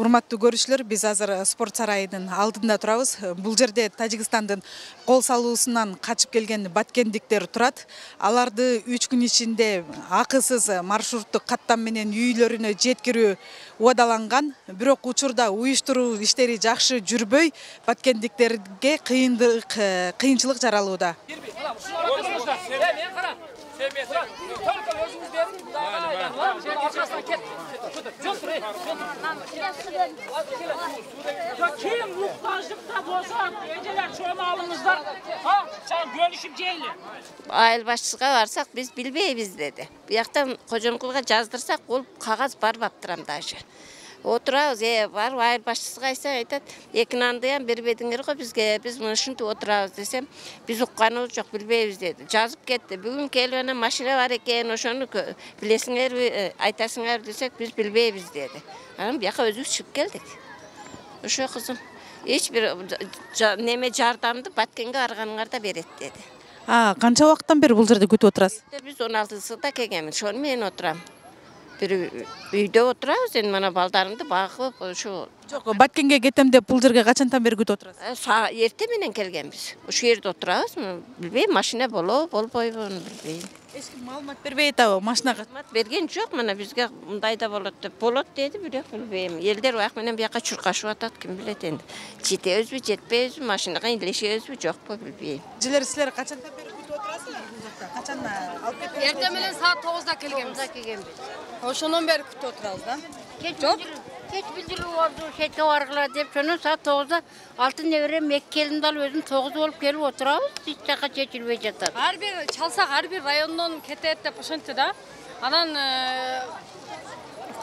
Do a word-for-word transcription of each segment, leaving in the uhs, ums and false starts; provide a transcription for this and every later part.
Урматтуу көрүүчүлөр, биз азыр спорт сарайынын алдында турабыз. Бул жерде Тажикстандын кол салуусунан качып келген баткендиктер турат. Аларды үч күн ичинде акысыз маршруттук каттам менен үйлөрүнө жеткирүү убадаланган. Бирок учурда уюштуруу иштери жакшы жүрбөй, баткендиктерге кыйындык, кыйынчылык жаралууда. Kim muhtaçlıkta bolsa, geceler çoğunu alınızlar, ha, sen bölüşüp ceyli. Айыл башчысына барсак, биз билбейбиз деди. Бияктан кожомкулга жаздырсак, ол кагаз бар баптырам даже. Отурабыз, э, бар айыл башчысына айтсак айтат, эки нандыям бербедиңер го бизге, биз ушинтип отурабыз десем, биз укканыбыз жок, билбейбиз деди. Жазып кетти. Бүгүн келип анан машина бар экен, ошону билесиңерби, айтасыңар десек, биз билбейбиз деди. Анан бияка өзүбүз чыгып келдик. Ошо кызым, эч бир неме жардамды Баткенге барганыңарда берет деди. А, канча убакыттан бери бул жерде күтүп отурасыз? Биз он алтысында келгенбиз, ошону менен отурам. Бир үйдө отурабыз, эми мана балдарымды багып, ошо. Жок, Баткенге кетем деп бул жерге качантан бери күтүп отурасыз? Эрте менен келгенбиз. Ошол жерде отурабыз, билбейм, машина болобу, болбойбу, билбейм. Эч ким маалымат бербей атабы, машинага? Маалымат берген жок, мына бизге мындай да болот деп. Болот деди, бирок билбейм. Элдер бак менен бияка чуркашып атат, ким билет энди. Жетебизби, жетпейбизби, машинага илешебизби, жокпу, билбейм. Жилер силер качантан бери күтүп отурасыздар бул жакта? Качан алып кетип? Эрте менен саат тогузда келгенбиз. Ошондон бери күтүп отурабыз да. Жок. Кеч билдирүү болду, шетке баргыла деп, ошондон саат тогузда алтын неберем эки келинди алып өзүм тогуз болуп келип отурабыз, эч жака чечилбей жатат. Ар бир чалсак, ар бир райондон кетет деп ошентти да. Анан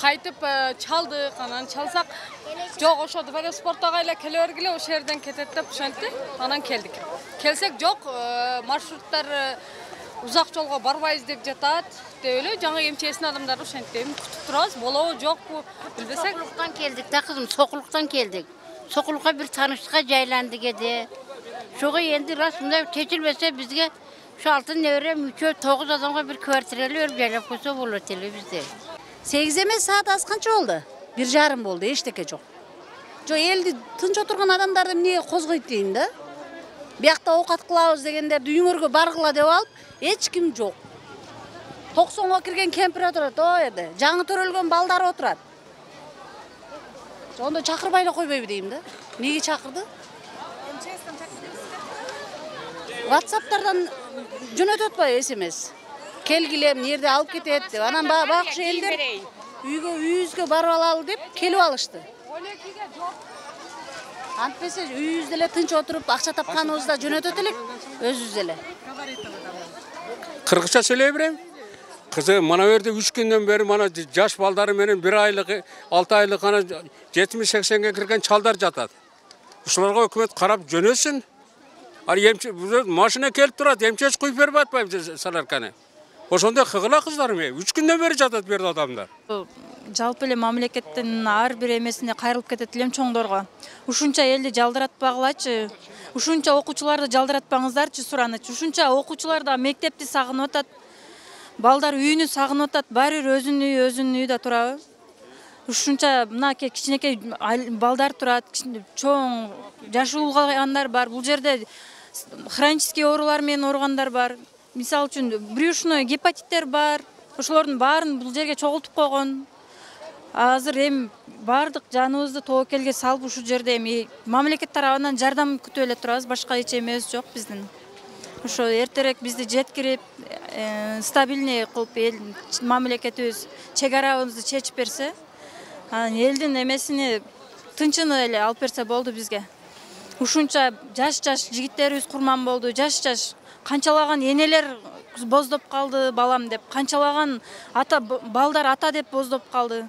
кайтып чалдык, анан чалсак, жок ошо дв спорттога эле келе бергиле, ошол жерден кетет деп ошентти. Анан келдик. Келсек жок, маршруттар узак жолго барбайбыз деп жатат. Деп эле жаңы эмчесин адамдар ошентти. Күтүп турабыз, болобу жокпу билбесек. Сокулуктан келдик да кызым, Сокулуктан келдик. Сокулукка бир тааныштыкка жайландык эди. Ошого энди расында чечилбесе бизге ушу алтын неберем үчөө тогуз адамга бир квартиралы берип жайлап койсо болот эле бизде. сегиз эмес, саат аз канча болду? бир жарым болду, эчтеке жок. Жок, элди тынч отурган адамдарды эмнеге козгойт дейм да. Биякта оокат кылабыз дегендерди үйүңөргө баргыла деп алып, эч ким жок. токсонго кирген кемпир отурат, о жерде. Жаңы төрөлгөн балдар отурат. Ондо чакырбай эле койбойбу дейм да. Неге чакырды? WhatsApp'тардан жөнөтөт атпайбы эс эм эс? Келгиле, эмне жерде алып кетет деп. Анан багыш элдер үйгө үйүбүзгө барып алалы деп келип алышты. Антпесе үйүбүздө эле тынч отуруп, акча тапканыбызда жөнөтөт элек өзүбүз эле. Кыргызча сүйлөй берем. Кызы мана жерде үч күндөн бери мана жаш балдары менен бир айлык, алты айлык ана жетимиш сексенге кирген чалдар жатат. Ушуларга өкмөт карап жөнөсүн. Ал эмче машина келип турат, эмчеч куюп берип атпайбы саларканы. Ошондой кыгыла кыздарым, үч күндөн бери жатат бу жерде адамдар. Жалпы эле мамлекеттин ар бир эмесине кайрылып кетет элем чоңдорго. Ушунча элди жалдыратпагылачы, ушунча окуучуларды жалдыратпаңыздарчы суранычы. Ушунча окуучулар да мектепти сагынып атат. Балдар үйүнү сагынып атат, баары бир өзүнүн үйү, өзүнүн үйдө турабы. Ушунча мына кичинекей балдар турат, чоң жаш улгандар бар. Бул жерде хронический оорулар менен ооругандар бар. Мисалы үчүн брюшной гепатиттер бар. Ошолордун баарын бул жерге чогултуп койгон. Азыр эми бардык жаныбызды тобокелге салып ушул жерде эми мамлекет тарабынан жардам күтүп эле турабыз, башка эч эмебиз жок биздин. Ошо эртерээк бизди жеткирип, стабильный кылып эл мамлекетибиз чек арабызды чечип берсе, анан элдин эмесини тынчыны эле алып берсе болду бизге. Ушунча жаш-жаш жигиттерибиз курман болду, жаш-жаш канчалаган энелер боздоп калды балам деп, канчалаган ата балдар ата деп боздоп калды.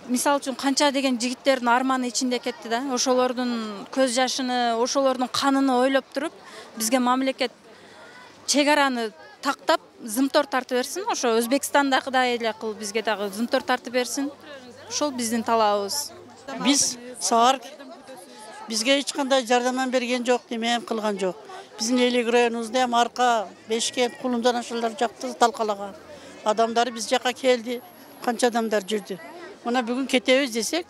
Мисалы үчүн канча деген жигиттердин арманы ичинде кетти да. Ошолордун көз жашыны, ошолордун канын ойлоп туруп, бизге мамлекет чек араны тактап, зымтор тартып берсин. Ошо Өзбекстандагыдай эле кылып бизге дагы зымтор тартып берсин. Ошол биздин талабыбыз. Биз саар бизге эч кандай жардам берген жок, неме кылган жок. Биздин элек районубузда эми Арка, Бешкент, Кулумдан ошолор жакты талкалаган. Адамдар биз жака келди, канча адамдар жүрдү. Мына бүгүн кетебиз десек,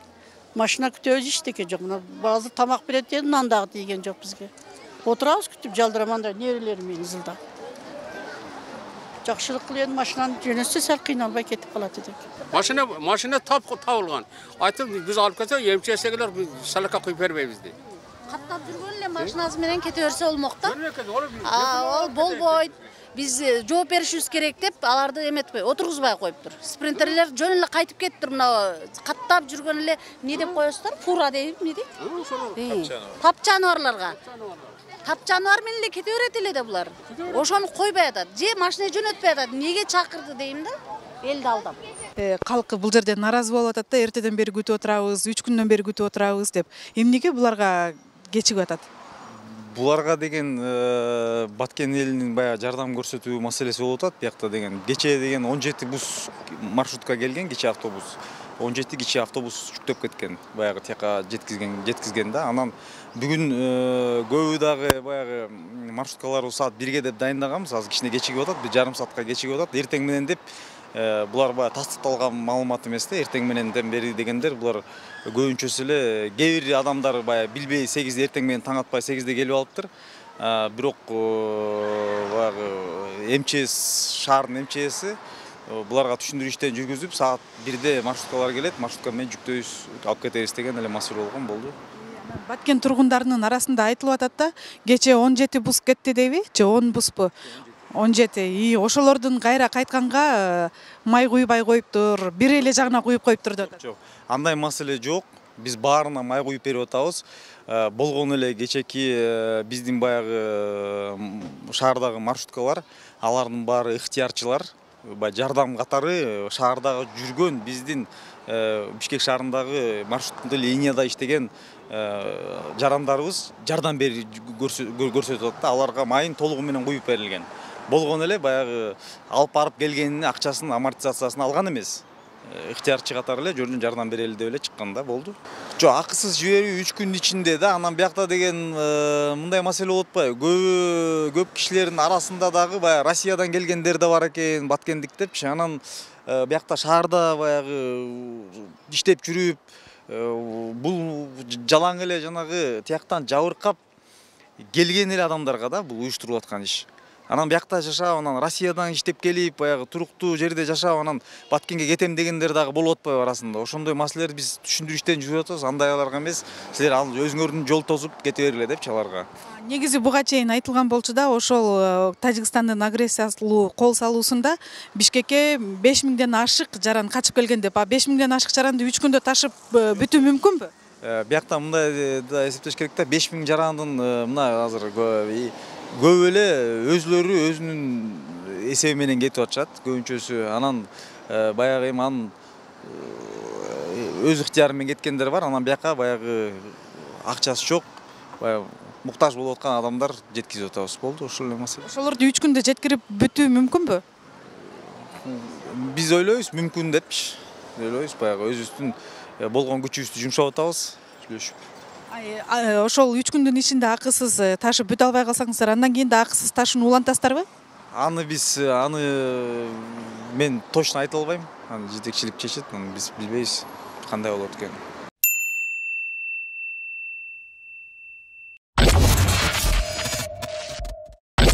Машина күтөбүз эчтеке жок. Мына азыр тамак берет дедим, нан дагы тийген жок бизге. Отурабыз күтүп жалдыраманда нерелерим менен ызылдап. Жакшылык кылып машинаны жөнөтсө сал кыйналбай кетип калат эдик. Машина машина тап табылган. Айтып биз алып кетсек, эмчесегилер салака куюп бербейбиз дейт. Каттап жүргөн эле машинасы менен кете берсе болмок да. Ал болбойт. Биз жооп беришибиз керек деп аларды эметпей, отургузбай коюптур. Спринтерлер жөн эле кайтып кетиптир. Мына каттап жүргөн эле эмне деп коесуздар? Фура дейби, эмне дейт? Тап жаныбарларга. Тап жаныбар менен эле кете берет эле да булар. Ошону койбой атат. Же машина жөнөтпөй атат. Эмнеге чакырды дейм да? Элди алдап. Калкы бул жерде нааразы болуп атат да, эртеден бери күтүп отурабыз, үч күндөн бери күтүп отурабыз деп. Эмнеге буларга кечигип атат? Буларга деген Баткен элинин баягы жардам көрсөтүү маселеси болуп атат. Биякта деген кече деген он жети бус маршрутка келген, кече автобус. он жети кичи автобус жүктөп кеткен. Баягы тияка жеткизген, жеткизген да. Анан бүгүн көбү дагы баягы маршруткаларды саат бирге деп дайындаганбыз. Азыр кичине кечигип атат, бир жарым саатка кечигип атат. Эртең менен деп булар баягы тастыкталган маалымат эмес да. Эртең мененден бери дегендер булар көбүнчөсү эле кээ бир адамдар баягы билбей сегизде эртең менен таң атпай сегизде келип алыптыр. Бирок баягы МЧС шаардын МЧСи буларга түшүндүрүү иштен жүргүзүп, саат бирде маршруткалар келет, маршрутка менен жүктөйбүз, алып кетебиз деген эле маселе болгон болду. Баткен тургундарынын арасында айтылып атат да, кече он жети бус кетти дейби, же он буспу? он жети. И ошолордун кайра кайтканга май куйбай коюптур, бир эле жагына куюп коюптур деп атат. Жок, андай маселе жок. Биз баарына май куюп берип атабыз. Болгон эле кечеки биздин баягы шаардагы маршруткалар, алардын баары ыктыярчылар. Жардам катары шаардагы жүргөн биздин Бишкек шаарындагы маршруттуу линияда иштеген жарандарыбыз жардам берип көрсөтүп атат да. Аларга майын толугу менен куюп берилген. Болгон эле баягы алып барып келгенин акчасын, амортизациясын алган эмес. Ыктыярчы катары эле жөн жардам берели деп эле чыккан да, болду. Жок, акысыз жиберүү үч күн ичинде да. Анан биякта деген мындай маселе болуп атпайбы? Көп көп кишилердин арасында дагы баягы Россиядан келгендер да бар экен, баткендик депчи. Анан биякта шаарда баягы иштеп жүрүп, бул жалаң эле жанагы тияктан жабыркап келген эле адамдарга да бул уюштурулуп аткан иш. Анан биякта жашап, анан Россиядан иштеп келип, баягы туруктуу жерде жашап, анан Баткенге кетем дегендер дагы болуп атпайбы арасында. Ошондой маселелерди биз түшүндүрүү иштен жүрүп атабыз. Андайларга эмес, силер өзүңөрдүн жол тосуп кете бергиле депчи аларга. Негизи буга чейин айтылган болчу да, ошол Тажикстандын агрессиялуу кол салуусунда Бишкекке беш миңден ашык жаран качып келген деп. А беш миңден ашык жаранды үч күндө ташып бүтүү мүмкүнбү? Биякта мындай да эсептеш керек да, беш миң жарандын мына азыр көп эле өзлөрү өзүнүн эсеби менен кетип атышат, көбүнчөсү. Анан баягы эми анын өз ыктыяры менен кеткендер бар. Анан бияка баягы акчасы жок, баягы муктаж болуп аткан адамдар жеткизип атабыз. Болду, ошол эле маселе. Ошолорду үч күндө жеткирип бүтүү мүмкүнбү? Биз ойлойбуз, мүмкүн депчи. Ойлойбуз, баягы өзүбүздүн болгон күчүбүздү жумшап атабыз, сүйлөшүп. Ошол үч күндүн ичинде акысыз ташып бүтө албай калсаңыздар, андан кийин да акысыз ташууну улантасыздарбы? Аны биз аны мен точно айта албайм. Аны жетекчилик чечет, аны биз билбейбиз кандай болот экенин.